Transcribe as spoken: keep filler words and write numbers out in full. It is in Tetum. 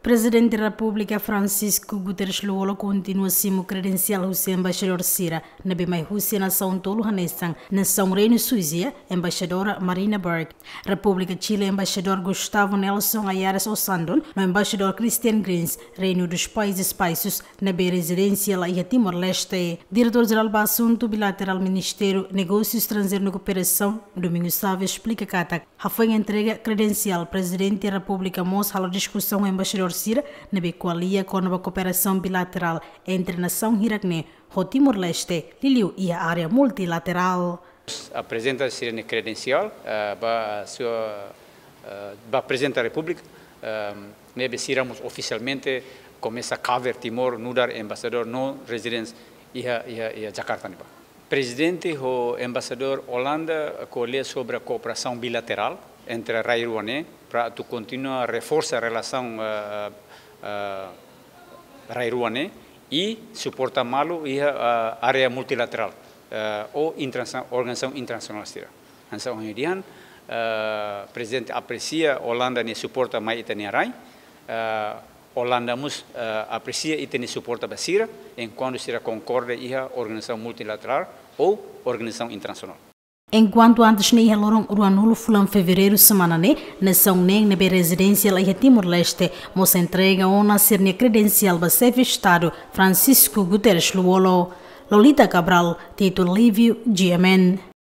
Prezidente Repúblika Francisco Guterres Lú-Olo kontinua simu kredensiál husi embaixadór sira ne'ebé mai husi nasaun tolu hanesan nasaun Reinu Suisa, embaixadora Marina Berg, Repúblika Chile, embaixadór Gustavo Nelson Ayares Osandón, no embaixadór Christian Grins, Reino dos Países Baixos, ne'ebé rezidénsia la iha Timor-Leste. Diretór Jerál ba Asuntu Bilaterál Ministériu Negósiu Estranjeiru no Kooperasaun, Domingos Sávio, esplika katak hafoin entrega kredensiál, Prezidente Repúblika mós halo diskusaun ho embaixadór sira ne'ebé ko'alia kona-ba kooperasaun bilaterál entre nasaun hirak-ne'e ho Timor-Leste, liuliu iha área multilaterál. Aprezenta sira-nia kredensiál, eh, ba sua, eh, ba Prezidente Repúblika, eh, ne'ebé sira mós ofisialmente komesa cover Timor nu'udar embaixadór no rezidente iha, iha, iha Jakarta ne'ebá. Prezidente ho embaixadór Olanda ko'alia sobre kooperasaun bilaterál entre rai rua ne'e, para atu kontinua reforsa relasaun, eh, eh, rai rua ne'e i suporta malu iha, eh, área multilaterál, eh, ou internasionál, organizasaun internasionál sira. Hanesan ohin dehan, eh, Prezidente apresia Olanda nia suporta mai ita-nia rai, eh, Olanda mós, eh, apresia ita-nia suporta ba sira, enkuantu sira konkorda iha organizasaun multilaterál ou organizasaun internasionál. Enkuantu antes ne'e, iha loron ruanulu fulan Fevereiru semana ne'e, nasaun neen ne'ebé rezidénsia la iha Timor-Leste mós entrega ona sira-nia kredensiál ba Xefe Estadu Francisco Guterres Lú-Olo. Lolita Cabral, Tito Lívio, G M N.